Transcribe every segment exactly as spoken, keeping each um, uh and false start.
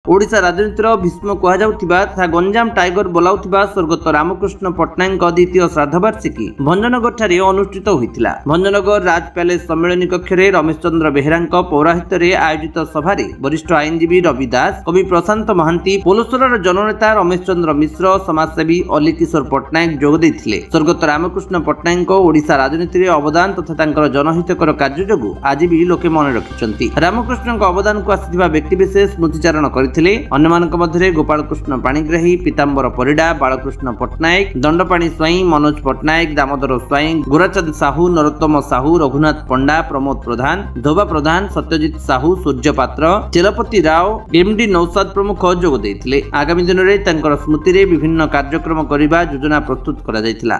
ଓଡ଼ିଶା ରାଜନୀତିର ଭୀଷ୍ମ କୁହାଯାଉଥିବା ତଥା ଗଞ୍ଜାମ ଟାଇଗର ବୋଲାଉଥିବା ସ୍ୱର୍ଗତ ରାମକୃଷ୍ଣ ପଟ୍ଟନାୟକଙ୍କ ଦ୍ୱିତୀୟ ଶ୍ରାଦ୍ଧବାର୍ଷିକୀ ଭଞ୍ଜନଗରଠାରେ ଅନୁଷ୍ଠିତ ହୋଇଥିଲା। ଭଞ୍ଜନଗର ରାଜ ପ୍ୟାଲେସ ସମ୍ମିଳନୀ କକ୍ଷରେ ରମେଶ ଚନ୍ଦ୍ର ବେହେରାଙ୍କ ପୌରାହିତ୍ୟରେ ଆୟୋଜିତ ସଭାରେ ବରିଷ୍ଠ ଆଇନଜୀବୀ ରବି ଦାସ, କବି ପ୍ରଶାନ୍ତ ମହାନ୍ତି, ପୋଲସରାର ଜନନେତା ରମେଶ ଚନ୍ଦ୍ର ମିଶ୍ର, ସମାଜସେବୀ ଅଲି କିଶୋର ପଟ୍ଟନାୟକ ଯୋଗ ଦେଇଥିଲେ। ସ୍ୱର୍ଗତ ରାମକୃଷ୍ଣ ପଟ୍ଟନାୟକଙ୍କ ଓଡ଼ିଶା ରାଜନୀତିରେ ଅବଦାନ ତଥା ତାଙ୍କର ଜନହିତକର କାର୍ଯ୍ୟ ଯୋଗୁଁ ଆଜି ବି ଲୋକେ ମନେ ରଖିଛନ୍ତି। ରାମକୃଷ୍ଣଙ୍କ ଅବଦାନକୁ ଆସିଥିବା ବ୍ୟକ୍ତିବିଶେଷ ସ୍ମୃତିଚାରଣ କରିଥିଲେ। ଅନ୍ୟମାନଙ୍କ ମଧ୍ୟରେ ଗୋପାଳକୃଷ୍ଣ ପାଣିଗ୍ରାହୀ, ପୀତାମ୍ବର ପରିଡ଼ା, ବାଳକୃଷ୍ଣ ପଟ୍ଟନାୟକ, ଦଣ୍ଡପାଣି ସ୍ୱାଇଁ, ମନୋଜ ପଟ୍ଟନାୟକ, ଦାମୋଦର ସ୍ୱାଇଁ, ଗୋରାଚାନ୍ଦ ସାହୁ, ନରୋତ୍ତମ ସାହୁ, ରଘୁନାଥ ପଣ୍ଡା, ପ୍ରମୋଦ ପ୍ରଧାନ, ଧୋବା ପ୍ରଧାନ, ସତ୍ୟଜିତ ସାହୁ, ସୂର୍ଯ୍ୟ ପାତ୍ର, ଚେଲପତି ରାଓ, ଏମଡି ନୌସାଦ ପ୍ରମୁଖ ଯୋଗ ଦେଇଥିଲେ। ଆଗାମୀ ଦିନରେ ତାଙ୍କର ସ୍ମୃତିରେ ବିଭିନ୍ନ କାର୍ଯ୍ୟକ୍ରମ କରିବା ଯୋଜନା ପ୍ରସ୍ତୁତ କରାଯାଇଥିଲା।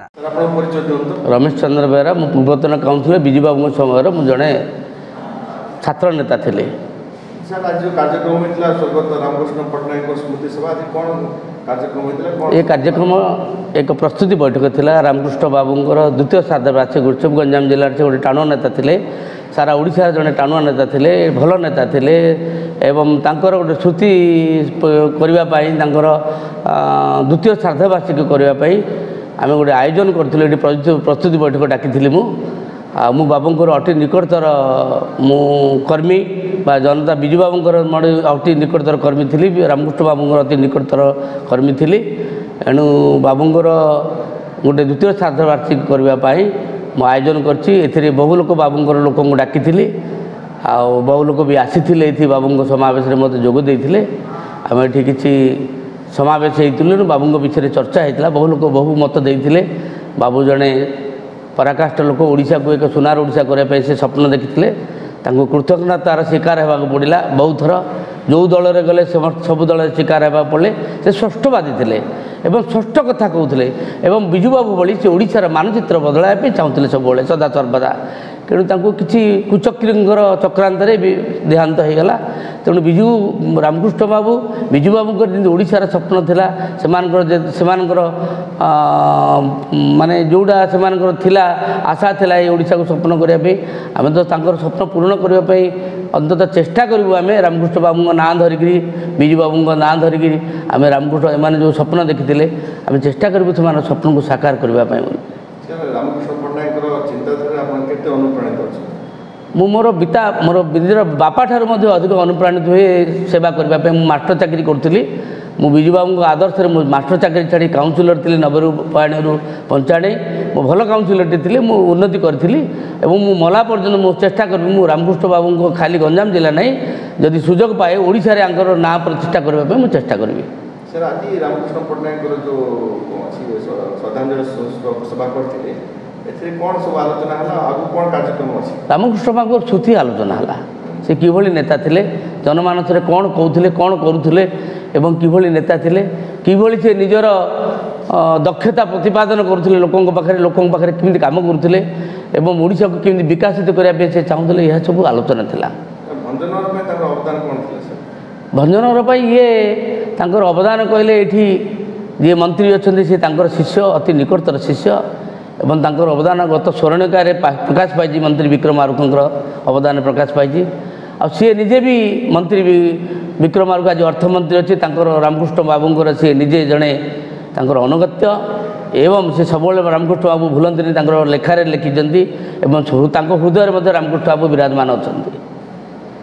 ରମେଶ ଚନ୍ଦ୍ର ବେହେରା, ମୁଁ ପୂର୍ବତନ କାଉନସିଲର। ବିଜୁ ବାବୁଙ୍କ ସମୟରେ ମୁଁ ଜଣେ ଛାତ୍ର ନେତା ଥିଲି। ସାର୍, ଆଜି ଯେଉଁ କାର୍ଯ୍ୟକ୍ରମ ହୋଇଥିଲା ସ୍ୱର୍ଗତ ରାମକୃଷ୍ଣ ପଟ୍ଟନାୟକଙ୍କ ସ୍ମୃତି ସଭା, ଆଜି କ'ଣ କାର୍ଯ୍ୟକ୍ରମ ହୋଇଥିଲା? ଏ କାର୍ଯ୍ୟକ୍ରମ ଏକ ପ୍ରସ୍ତୁତି ବୈଠକ ଥିଲା ରାମକୃଷ୍ଣ ବାବୁଙ୍କର ଦ୍ୱିତୀୟ ଶ୍ରାଦ୍ଧବାର୍ଷିକୀ ଉତ୍ସବ। ଗଞ୍ଜାମ ଜିଲ୍ଲାରେ ସେ ଗୋଟେ ଟାଣୁଆ ନେତା ଥିଲେ, ସାରା ଓଡ଼ିଶାର ଜଣେ ଟାଣୁଆ ନେତା ଥିଲେ, ଭଲ ନେତା ଥିଲେ ଏବଂ ତାଙ୍କର ଗୋଟେ ସ୍ମୃତି କରିବା ପାଇଁ, ତାଙ୍କର ଦ୍ୱିତୀୟ ଶ୍ରାଦ୍ଧବାର୍ଷିକୀ କରିବା ପାଇଁ ଆମେ ଗୋଟେ ଆୟୋଜନ କରିଥିଲୁ। ଏଠି ପ୍ରସ୍ତୁତି ବୈଠକ ଡାକିଥିଲି ମୁଁ। ଆଉ ମୁଁ ବାବୁଙ୍କର ଅତି ନିକଟତର ମୁଁ କର୍ମୀ ବା ଜନତା, ବିଜୁ ବାବୁଙ୍କର ଅତି ନିକଟତର କର୍ମୀ ଥିଲି, ରାମକୃଷ୍ଣ ବାବୁଙ୍କର ଅତି ନିକଟତର କର୍ମୀ ଥିଲି। ଏଣୁ ବାବୁଙ୍କର ଗୋଟେ ଦ୍ୱିତୀୟ ଶ୍ରାଦ୍ଧବାର୍ଷିକୀ କରିବା ପାଇଁ ମୁଁ ଆୟୋଜନ କରିଛି। ଏଥିରେ ବହୁ ଲୋକ, ବାବୁଙ୍କର ଲୋକଙ୍କୁ ଡାକିଥିଲି ଆଉ ବହୁ ଲୋକ ବି ଆସିଥିଲେ। ଏଠି ବାବୁଙ୍କ ସମାବେଶରେ ମୋତେ ଯୋଗ ଦେଇଥିଲେ। ଆମେ ଏଠି କିଛି ସମାବେଶ ହେଇଥିଲୁ, ବାବୁଙ୍କ ବିଷୟରେ ଚର୍ଚ୍ଚା ହେଇଥିଲା, ବହୁ ଲୋକ ବହୁ ମତ ଦେଇଥିଲେ। ବାବୁ ଜଣେ ପରାକାଷ୍ଠ ଲୋକ। ଓଡ଼ିଶାକୁ ଏକ ସୁନାର ଓଡ଼ିଶା କରିବା ପାଇଁ ସେ ସ୍ୱପ୍ନ ଦେଖିଥିଲେ। ତାଙ୍କୁ କୃତଜ୍ଞତାର ଶିକାର ହେବାକୁ ପଡ଼ିଲା ବହୁତ ଥର। ଯେଉଁ ଦଳରେ ଗଲେ ସବୁ ଦଳରେ ଶିକାର ହେବାକୁ ପଡ଼ିଲେ। ସେ ସ୍ପଷ୍ଟବାଦୀ ଥିଲେ ଏବଂ ସ୍ପଷ୍ଟ କଥା କହୁଥିଲେ ଏବଂ ବିଜୁବାବୁ ଭଳି ସେ ଓଡ଼ିଶାର ମାନଚିତ୍ର ବଦଳାଇବା ପାଇଁ ଚାହୁଁଥିଲେ ସବୁବେଳେ, ସଦା ସର୍ବଦା। ତେଣୁ ତାଙ୍କୁ କିଛି କୁଚକ୍ରୀଙ୍କର ଚକ୍ରାନ୍ତରେ ବି ଦେହାନ୍ତ ହୋଇଗଲା। ତେଣୁ ବିଜୁ ରାମକୃଷ୍ଣ ବାବୁ, ବିଜୁ ବାବୁଙ୍କର ଯେମିତି ଓଡ଼ିଶାର ସ୍ୱପ୍ନ ଥିଲା, ସେମାନଙ୍କର ସେମାନଙ୍କର ମାନେ ଯେଉଁଟା ସେମାନଙ୍କର ଥିଲା, ଆଶା ଥିଲା ଏଇ ଓଡ଼ିଶାକୁ ସ୍ୱପ୍ନ କରିବା ପାଇଁ, ଆମେ ତ ତାଙ୍କର ସ୍ୱପ୍ନ ପୂରଣ କରିବା ପାଇଁ ଅନ୍ତତଃ ଚେଷ୍ଟା କରିବୁ। ଆମେ ରାମକୃଷ୍ଣ ବାବୁଙ୍କ ନାଁ ଧରିକିରି, ବିଜୁ ବାବୁଙ୍କ ନାଁ ଧରିକିରି, ଆମେ ରାମକୃଷ୍ଣ ଏମାନେ ଯେଉଁ ସ୍ୱପ୍ନ ଦେଖିଥିଲେ, ଆମେ ଚେଷ୍ଟା କରିବୁ ସେମାନଙ୍କ ସ୍ୱପ୍ନକୁ ସାକାର କରିବା ପାଇଁ ବୋଲି। ରାମକୃଷ୍ଣ ପଟ୍ଟନାୟକଙ୍କର ଚିନ୍ତାଧାରାରେ ଆପଣ କେତେ ଅନୁପ୍ରାଣିତ ଅଛନ୍ତି? ମୁଁ ମୋର ପିତା, ମୋର ନିଜର ବାପା ଠାରୁ ମଧ୍ୟ ଅଧିକ ଅନୁପ୍ରାଣିତ ହୁଏ ସେବା କରିବା ପାଇଁ। ମୁଁ ମାଷ୍ଟର ଚାକିରି କରୁଥିଲି। ମୁଁ ବିଜୁବାବୁଙ୍କ ଆଦର୍ଶରେ ମୁଁ ମାଷ୍ଟର ଚାକିରି ଛାଡ଼ି କାଉନସିଲର ଥିଲି ନବେରୁ ପୟାଣିରୁ ପଞ୍ଚାଣୀ। ମୁଁ ଭଲ କାଉନସିଲରଟି ଥିଲି, ମୁଁ ଉନ୍ନତି କରିଥିଲି ଏବଂ ମୁଁ ମଲା ପର୍ଯ୍ୟନ୍ତ ମୁଁ ଚେଷ୍ଟା କରିବି, ମୁଁ ରାମକୃଷ୍ଣ ବାବୁଙ୍କ ଖାଲି ଗଞ୍ଜାମ ଜିଲ୍ଲା ନାହିଁ, ଯଦି ସୁଯୋଗ ପାଏ ଓଡ଼ିଶାରେ ୟାଙ୍କର ନାଁ ପ୍ରତିଷ୍ଠା କରିବା ପାଇଁ ମୁଁ ଚେଷ୍ଟା କରିବି। ସାର୍, ଆଜି ରାମକୃଷ୍ଣ ପଟ୍ଟନାୟକଙ୍କର ଯେଉଁ ଅଛି ଶ୍ରଦ୍ଧାଞ୍ଜଳି ସଭା କରିଥିଲେ, ଏଥିରେ କ'ଣ ସବୁ ଆଲୋଚନା ହେଲା, ଆଗକୁ କ'ଣ କାର୍ଯ୍ୟକ୍ରମ ଅଛି? ରାମକୃଷ୍ଣ ବାବୁଙ୍କର ଶ୍ରୁତି ଆଲୋଚନା ହେଲା। ସେ କିଭଳି ନେତା ଥିଲେ, ଜନମାନସରେ କ'ଣ କହୁଥିଲେ, କ'ଣ କରୁଥିଲେ ଏବଂ କିଭଳି ନେତା ଥିଲେ, କିଭଳି ସେ ନିଜର ଦକ୍ଷତା ପ୍ରତିପାଦନ କରୁଥିଲେ ଲୋକଙ୍କ ପାଖରେ, ଲୋକଙ୍କ ପାଖରେ କେମିତି କାମ କରୁଥିଲେ ଏବଂ ଓଡ଼ିଶାକୁ କେମିତି ବିକଶିତ କରିବା ପାଇଁ ସେ ଚାହୁଁଥିଲେ, ଏହା ସବୁ ଆଲୋଚନା ଥିଲା। ଭଞ୍ଜନଗର ପାଇଁ ତାଙ୍କର ଅବଦାନ କ'ଣ ଥିଲା ସାର୍? ଭଞ୍ଜନଗର ପାଇଁ ଇଏ ତାଙ୍କର ଅବଦାନ କହିଲେ, ଏଇଠି ଯିଏ ମନ୍ତ୍ରୀ ଅଛନ୍ତି ସେ ତାଙ୍କର ଶିଷ୍ୟ, ଅତି ନିକଟତର ଶିଷ୍ୟ ଏବଂ ତାଙ୍କର ଅବଦାନ ଗତ ସ୍ମରଣିକାରେ ପ୍ରକାଶ ପାଇଛି। ମନ୍ତ୍ରୀ ବିକ୍ରମ ଆରୁଖଙ୍କର ଅବଦାନ ପ୍ରକାଶ ପାଇଛି। ଆଉ ସିଏ ନିଜେ ବି ମନ୍ତ୍ରୀ ବିକ୍ରମ ଆରୁଖ ଆଜି ଅର୍ଥମନ୍ତ୍ରୀ ଅଛି, ତାଙ୍କର ରାମକୃଷ୍ଣ ବାବୁଙ୍କର ସିଏ ନିଜେ ଜଣେ ତାଙ୍କର ଅନୁଗତ୍ୟ ଏବଂ ସେ ସବୁବେଳେ ରାମକୃଷ୍ଣ ବାବୁ ଭୁଲନ୍ତିନି, ତାଙ୍କର ଲେଖାରେ ଲେଖିଛନ୍ତି ଏବଂ ତାଙ୍କ ହୃଦୟରେ ମଧ୍ୟ ରାମକୃଷ୍ଣ ବାବୁ ବିରାଜମାନ ଅଛନ୍ତି।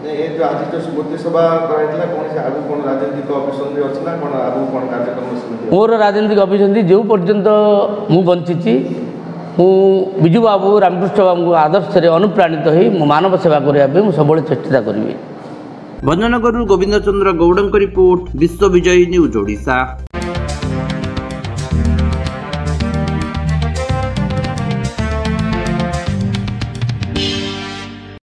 ଏ ଯେଉଁ ଆଜି ଯେଉଁ ସ୍ମୃତି ସଭା କରାଯାଇଥିଲା, କୌଣସି ଆଗକୁ କ'ଣ ରାଜନୈତିକ ଅଭିସନ୍ଧି ଅଛି ନା କ'ଣ, ଆଗକୁ କ'ଣ କାର୍ଯ୍ୟକ୍ରମ? ମୋର ରାଜନୈତିକ ଅଭିସନ୍ଧି, ଯେଉଁ ପର୍ଯ୍ୟନ୍ତ ମୁଁ ବଞ୍ଚିଛି, ମୁଁ ବିଜୁ ବାବୁ ରାମକୃଷ୍ଣ ବାବୁଙ୍କ ଆଦର୍ଶରେ ଅନୁପ୍ରାଣିତ ହୋଇ ମୁଁ ମାନବ ସେବା କରିବା ପାଇଁ ମୁଁ ସବୁବେଳେ ଚେଷ୍ଟା କରିବି। ଭଞ୍ଜନଗରରୁ ଗୋବିନ୍ଦ ଚନ୍ଦ୍ର ଗୌଡ଼ଙ୍କ ରିପୋର୍ଟ, ବିଶ୍ୱ ବିଜୟୀ ନ୍ୟୁଜ୍ ଓଡ଼ିଶା।